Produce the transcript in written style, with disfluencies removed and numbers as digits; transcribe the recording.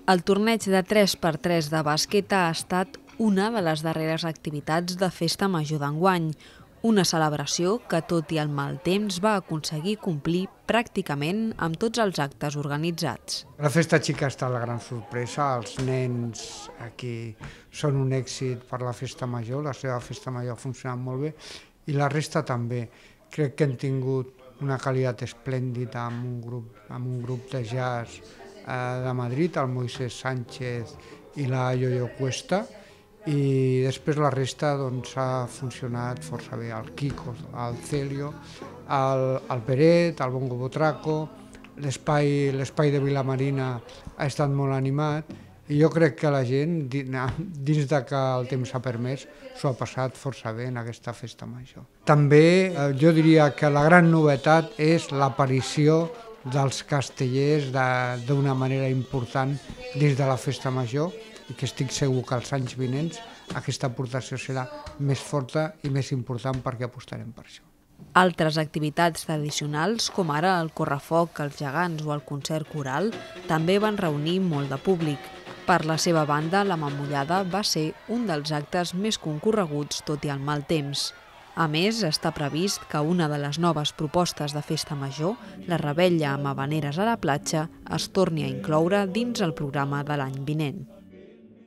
El torneig de 3x3 de bàsquet ha estat una de les darreres activitats de Festa Major d'enguany, una celebració que, tot i el mal temps, va aconseguir complir pràcticament amb tots els actes organitzats. La Festa Xica ha estat la gran sorpresa, els nens aquí són un èxit per la Festa Major, la seva Festa Major ha funcionat molt bé i la resta també. Crec que hem tingut una qualitat esplèndida amb un grup de jazz de Madrid, el Moisés Sánchez i la Yoyo Cuesta, i després la resta ha funcionat força bé, el Kiko, el Celio, el Peret, el Bongo Botraco, l'espai de Vilamarina ha estat molt animat i jo crec que la gent, dins de que el temps ha permès, s'ho ha passat força bé en aquesta Festa Major. També jo diria que la gran novetat és l'aparició dels castellers d'una manera important dins de la Festa Major i que estic segur que els anys vinents aquesta aportació serà més forta i més important perquè apostarem per això. Altres activitats tradicionals, com ara el correfoc, els gegants o el concert coral, també van reunir molt de públic. Per la seva banda, la Mamullada va ser un dels actes més concorreguts tot i el mal temps. A més, està previst que una de les noves propostes de Festa Major, la revetlla amb havaneres a la platja, es torni a incloure dins el programa de l'any vinent.